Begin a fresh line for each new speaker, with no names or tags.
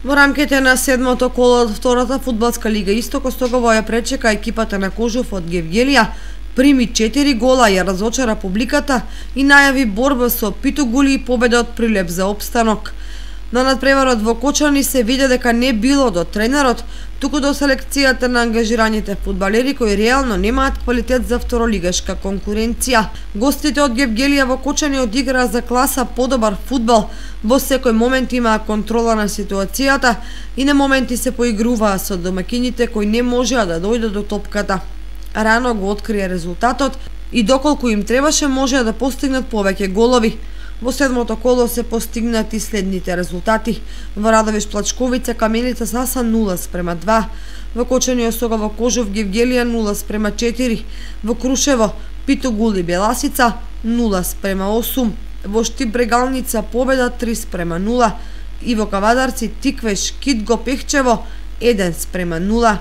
Во рамките на седмото коло од втората фудбалска лига Исток, Остогово ја пречека екипата на Кожув од Гевгелија, прими 4 гола, ја разочара публиката и најави борба со Питогули и победа од Прилеп за опстанок. На надпреварот во Кочани се виде дека не било до тренерот, туку до селекцијата на ангажираните фудбалери кои реално немаат квалитет за второлигашка конкуренција. Гостите од Гевгелија во Кочани одиграа за класа подобар фудбал, во секој момент имаа контрола на ситуацијата и на моменти се поигруваа со домакините кои не можеа да дојдат до топката. Рано го открија резултатот и доколку им требаше можеа да постигнат повеќе голови. Во седмото коло се постигнати следните резултати. Во Радовиш Плачковица Каменица Саса 0:2, во Кочани Остогово Кожув Гевгелија 0:4, во Крушево Питогули Беласица 0:8, во Штип Брегалница победа 3:0 и во Кавадарци Тиквеш Китго Пехчево 1:0.